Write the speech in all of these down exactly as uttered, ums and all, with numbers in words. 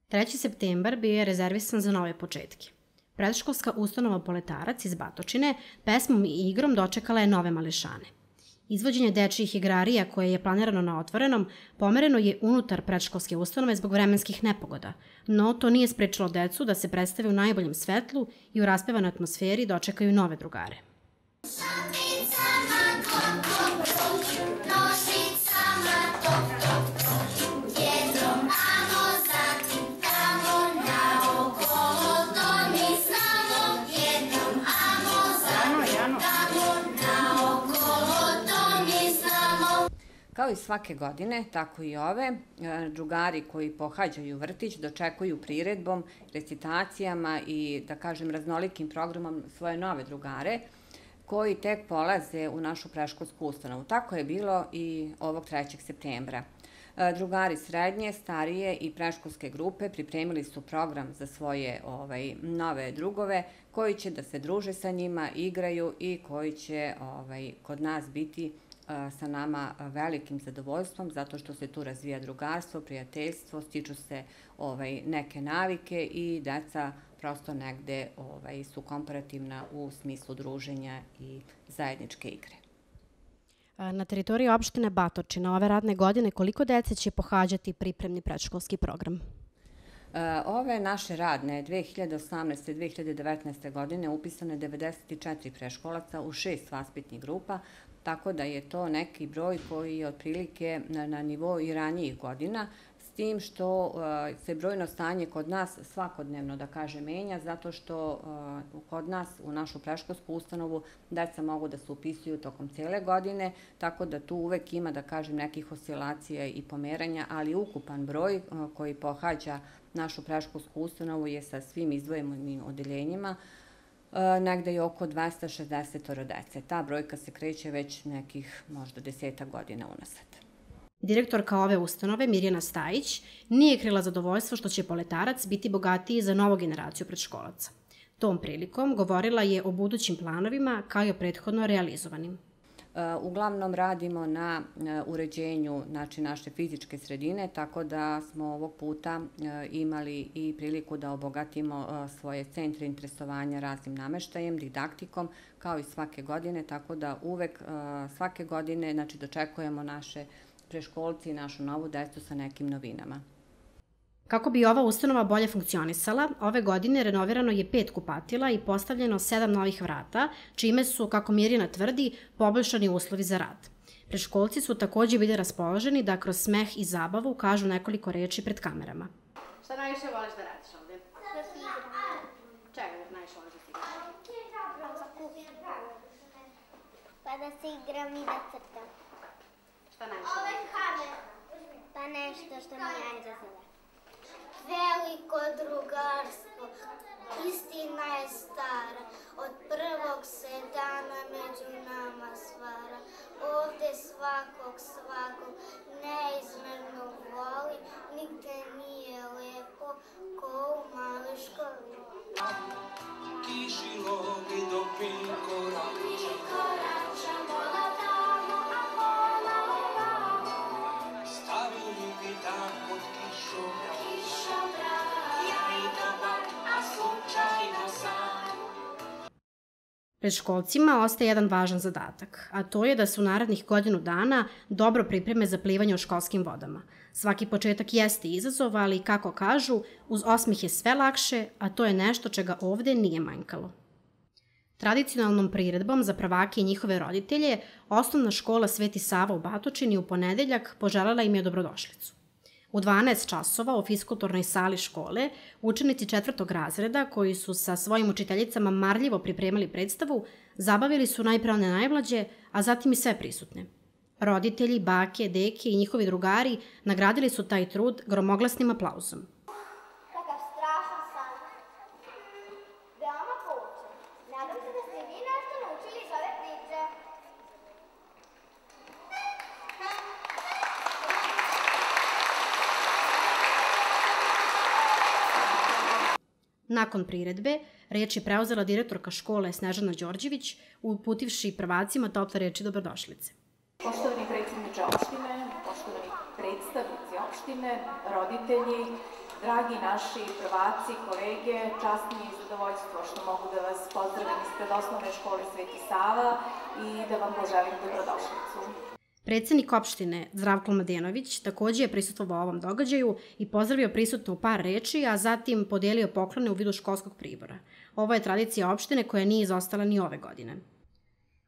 treći septembar bio je rezervisan za nove početke. Predškolska ustanova Poletarac iz Batočine pesmom i igrom dočekala je nove mališane. Izvođenje dečijih igrarija koje je planirano na otvorenom pomereno je unutar predškolske ustanove zbog vremenskih nepogoda, no to nije sprečilo decu da se predstave u najboljem svetlu i u raspevanoj atmosferi dočekaju nove drugare. Kao i svake godine, tako i ove, drugari koji pohađaju vrtić dočekuju priredbom, recitacijama i, da kažem, raznolikim programom svoje nove drugare koji tek polaze u našu predškolsku ustanovu. Tako je bilo i ovog trećeg septembra. Drugari srednje, starije i predškolske grupe pripremili su program za svoje ovaj, nove drugove koji će da se druže sa njima, igraju i koji će ovaj, kod nas biti sa nama velikim zadovoljstvom, zato što se tu razvija drugarstvo, prijateljstvo, stiču se ovaj, neke navike i deca prosto negde ovaj, su komparativna u smislu druženja i zajedničke igre. Na teritoriji opštine Batočina ove radne godine koliko dece će pohađati pripremni predškolski program? Ove naše radne dve hiljade osamnaeste. i dve hiljade devetnaeste. godine upisano je devedeset četiri preškolaca u šest vaspitnih grupa, tako da je to neki broj koji je otprilike na nivou i ranijih godina, s tim što se brojno stanje kod nas svakodnevno, da kaže, menja, zato što kod nas u našu predškolsku ustanovu deca mogu da se upisuju tokom cele godine, tako da tu uvek ima, da kažem, nekih oscilacija i pomeranja, ali ukupan broj koji pohađa našu predškolsku ustanovu je sa svim izdvojenim odeljenjima negde je oko dvesta šezdeset dece. Ta brojka se kreće već nekih možda desetak godina unazad. Direktorka ove ustanove, Mirjana Stajić, nije krila zadovoljstvo što će Poletarac biti bogatiji za novu generaciju predškolaca. Tom prilikom govorila je o budućim planovima kao i o prethodno realizovanim. Uglavnom radimo na uređenju znači, naše fizičke sredine, tako da smo ovog puta imali i priliku da obogatimo svoje centre interesovanja raznim nameštajem, didaktikom, kao i svake godine, tako da uvek svake godine znači, dočekujemo naše preškolci i našu novu decu sa nekim novinama. Kako bi ova ustanova bolje funkcionisala, ove godine renovirano je pet kupatila i postavljeno sedam novih vrata, čime su, kako Mirjana tvrdi, poboljšani uslovi za rad. Preškolci su takođe bili raspoloženi da kroz smeh i zabavu kažu nekoliko reči pred kamerama. Šta najviše voliš da radiš ovde? Da se igram. Čega najviše voliš da se igram? Za kuhinju. Pa da se igram i da crtam. Šta najviše voliš? Pa nešto što mi je za sada. Veliko drugarstvo, istina je stara, od prvog se dana među nama stvara. Ovde svakog svakog neizmerno voli, nigde nije lepo ko u maloj školi. Kišilo bi do pinko rača, koračamo na tamo, a kola ovamo. stavili bi dan pod kišom. Predškolcima ostaje jedan važan zadatak, a to je da se u narednih godinu dana dobro pripreme za plivanje u školskim vodama. Svaki početak jeste izazov, ali, kako kažu, uz osmeh je sve lakše, a to je nešto čega ovde nije manjkalo. Tradicionalnom priredbom za prvake i njihove roditelje, osnovna škola Sveti Sava u Batočini u ponedeljak poželjela im je dobrodošlicu. U dvanaest časova u fiskulturnoj sali škole učenici četvrtog razreda koji su sa svojim učiteljicama marljivo pripremali predstavu, zabavili su najpre one najmlađe, a zatim i sve prisutne. Roditelji, bake, deke i njihovi drugari nagradili su taj trud gromoglasnim aplauzom. Kakav strašan san. Veoma poučan. Nadam se da ste vi nešto naučili iz ove priče. Nakon priredbe, reč je preuzela direktorka škole Snežana Đorđević, uputivši prvacima tople reči dobrodošlice. Poštovani predsjedniče opštine, poštovani predstavnici opštine, roditelji, Dragi naši prvaci, kolege, čast mi je i zadovoljstvo što mogu da vas pozdravim ispred osnovne škole Sveti Sava i da vam poželim dobrodošlicu. Predsednik opštine Zdravko Mladenović takođe je prisustvovao ovom događaju i pozdravio prisutno u par reči, a zatim podijelio poklone u vidu školskog pribora. Ovo je tradicija opštine koja nije izostala ni ove godine.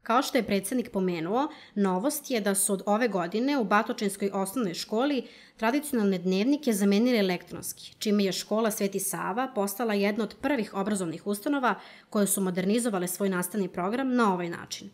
Kao što je predsednik pomenuo, novost je da su od ove godine u Batočinskoj osnovnoj školi tradicionalne dnevnike zamenili elektronski, čime je škola Sveti Sava postala jedna od prvih obrazovnih ustanova koje su modernizovale svoj nastavni program na ovaj način.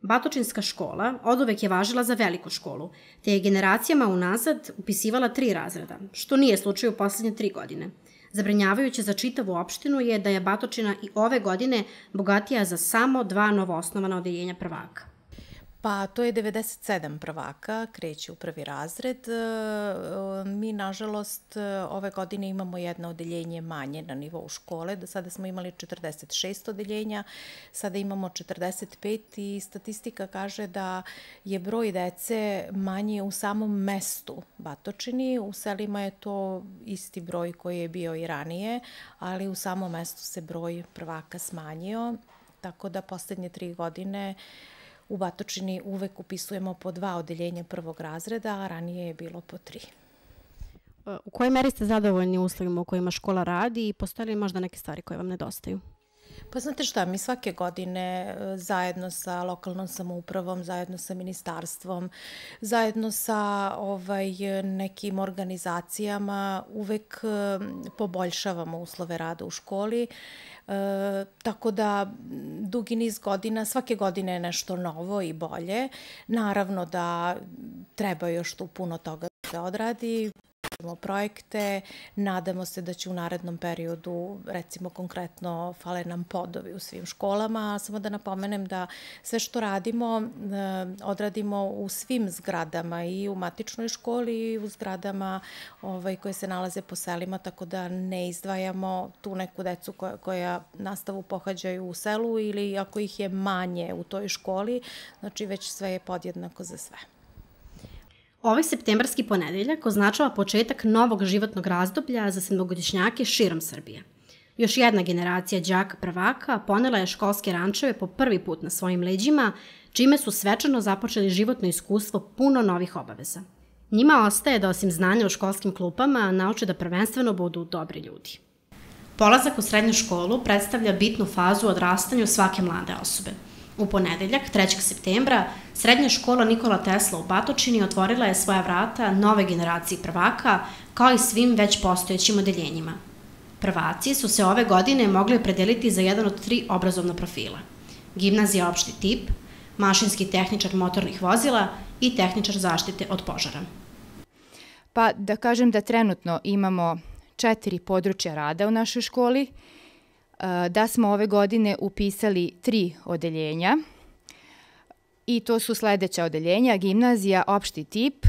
Batočinska škola oduvek je važila za veliku školu, te je generacijama unazad upisivala tri razreda, što nije slučaj u poslednje tri godine. Zabrinjavajuće za čitavu opštinu je da je Batočina i ove godine bogatija za samo dva novoosnovana odeljenja prvaka. Pa to je devedeset sedam prvaka, kreće u prvi razred. Mi, nažalost, ove godine imamo jedno odeljenje manje na nivou škole. Do sada smo imali četrdeset šest odeljenja, sada imamo četrdeset pet i statistika kaže da je broj dece manji u samom mestu Batočini. U selima je to isti broj koji je bio i ranije, ali u samom mestu se broj prvaka smanjio, tako da poslednje tri godine u Batočini uvek upisujemo po dva odeljenja prvog razreda, a ranije je bilo po tri. U kojoj meri ste zadovoljni uslovima u kojima škola radi i postoje li možda neke stvari koje vam nedostaju? Pa znate šta, mi svake godine zajedno sa lokalnom samoupravom, zajedno sa ministarstvom, zajedno sa ovaj, nekim organizacijama uvek poboljšavamo uslove rada u školi. E, tako da dugi niz godina, svake godine je nešto novo i bolje. Naravno da treba još tu puno toga da se odradi. Projekte, nadamo se da će u narednom periodu, recimo konkretno, fale nam podovi u svim školama, samo da napomenem da sve što radimo, odradimo u svim zgradama i u matičnoj školi i u zgradama ovaj, koje se nalaze po selima, tako da ne izdvajamo tu neku decu koja, koja nastavu pohađaju u selu ili ako ih je manje u toj školi, znači već sve je podjednako za sve. Ovaj septembarski ponedeljak označava početak novog životnog razdoblja za sedmogodišnjake širom Srbije. Još jedna generacija đaka prvaka ponela je školske rančeve po prvi put na svojim leđima, čime su svečano započeli životno iskustvo puno novih obaveza. Njima ostaje da osim znanja u školskim klupama nauče da prvenstveno budu dobri ljudi. Polazak u srednju školu predstavlja bitnu fazu u odrastanju svake mlade osobe. U ponedeljak, trećeg septembra, srednja škola Nikola Tesla u Batočini otvorila je svoja vrata nove generaciji prvaka, kao i svim već postojećim odeljenjima. Prvaci su se ove godine mogli opredeliti za jedan od tri obrazovna profila. Gimnazija opšti tip, mašinski tehničar motornih vozila i tehničar zaštite od požara. Pa da kažem da trenutno imamo četiri područja rada u našoj školi, da smo ove godine upisali tri odeljenja i to su sledeća odeljenja: gimnazija opšti tip,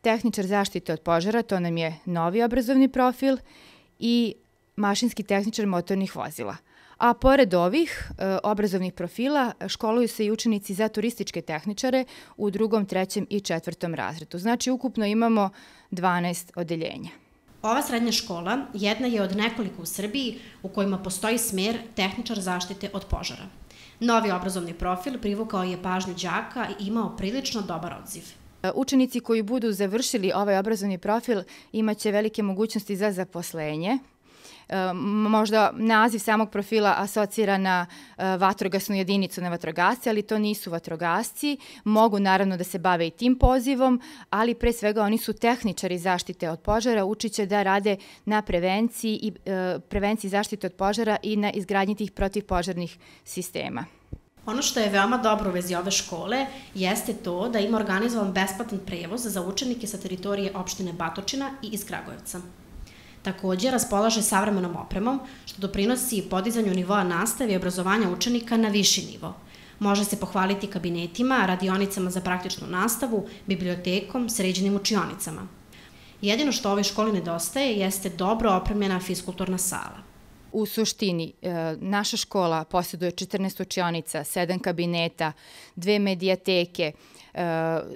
tehničar zaštite od požara, to nam je novi obrazovni profil, i mašinski tehničar motornih vozila. A pored ovih e, obrazovnih profila školuju se i učenici za turističke tehničare u drugom, trećem i četvrtom razredu. Znači ukupno imamo dvanaest odeljenja. Ova srednja škola jedna je od nekoliko u Srbiji u kojima postoji smer tehničar zaštite od požara. Novi obrazovni profil privukao je pažnju đaka i imao prilično dobar odziv. Učenici koji budu završili ovaj obrazovni profil imaće velike mogućnosti za zaposlenje. Možda naziv samog profila asocira na vatrogasnu jedinicu, na vatrogasce, ali to nisu vatrogasci. Mogu naravno da se bave i tim pozivom, ali pre svega oni su tehničari zaštite od požara, učiće da rade na prevenciji i prevenciji zaštite od požara i na izgradnji tih protivpožarnih sistema. Ono što je veoma dobro u vezi ove škole jeste to da ima organizovan besplatan prevoz za učenike sa teritorije opštine Batočina i iz Kragujevca. Takođe, raspolaže savremenom opremom, što doprinosi podizanju nivoa nastave i obrazovanja učenika na viši nivo. Može se pohvaliti kabinetima, radionicama za praktičnu nastavu, bibliotekom, sređenim učionicama. Jedino što ovoj školi nedostaje jeste dobro opremljena fiskulturna sala. U suštini, naša škola posjeduje četrnaest učionica, sedam kabineta, dve medijateke.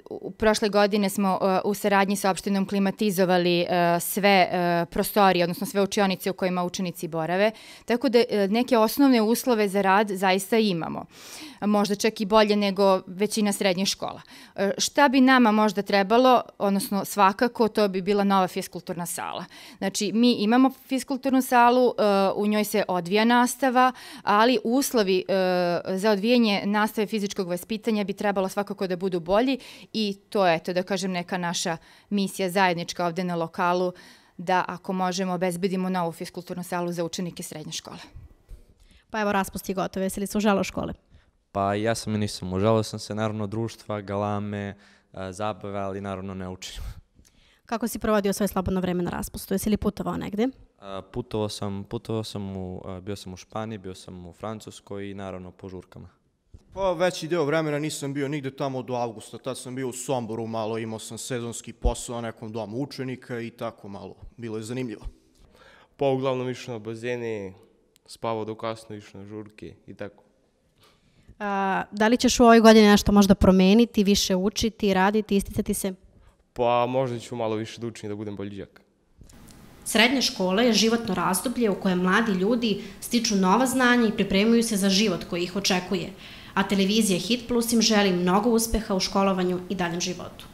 U prošle godine smo u saradnji sa opštinom klimatizovali sve prostorije, odnosno sve učionice u kojima učenici borave, tako da neke osnovne uslove za rad zaista imamo. Možda čak i bolje nego većina srednjih škola. Šta bi nama možda trebalo, odnosno svakako, to bi bila nova fiskulturna sala. Znači, mi imamo fiskulturnu salu, u njoj se odvija nastava, ali uslovi za odvijanje nastave fizičkog vaspitanja bi trebalo svakako da budu bolji i to je, eto, da kažem, neka naša misija zajednička ovde na lokalu, da ako možemo obezbedimo novu fiskulturnu salu za učenike srednje škole. Pa evo, raspust je gotov, jesi li se užalao škole? Pa ja sam i nisam. Užalao sam se naravno društva, galame, zabave, ali naravno ne učim. Kako si provodio svoje slobodno vreme na raspustu? Jesi li putovao negde? Putovao sam, putovao sam u, bio sam u Španiji, bio sam u Francuskoj i naravno po žurkama. Pa veći deo vremena nisam bio nigde tamo do avgusta, tad sam bio u Somboru malo, imao sam sezonski posao na nekom domu učenika i tako malo, bilo je zanimljivo. Pa uglavnom išao na bazene, spavao do kasno, išao na žurke i tako. A, da li ćeš u ovoj godini nešto možda promeniti, više učiti, raditi, isticati se? Pa možda ću malo više da učim da budem bolji đak. Srednja škola je životno razdoblje u kojem mladi ljudi stiču nova znanja i pripremaju se za život koji ih očekuje, a televizija Hit Plus im želi mnogo uspeha u školovanju i daljem životu.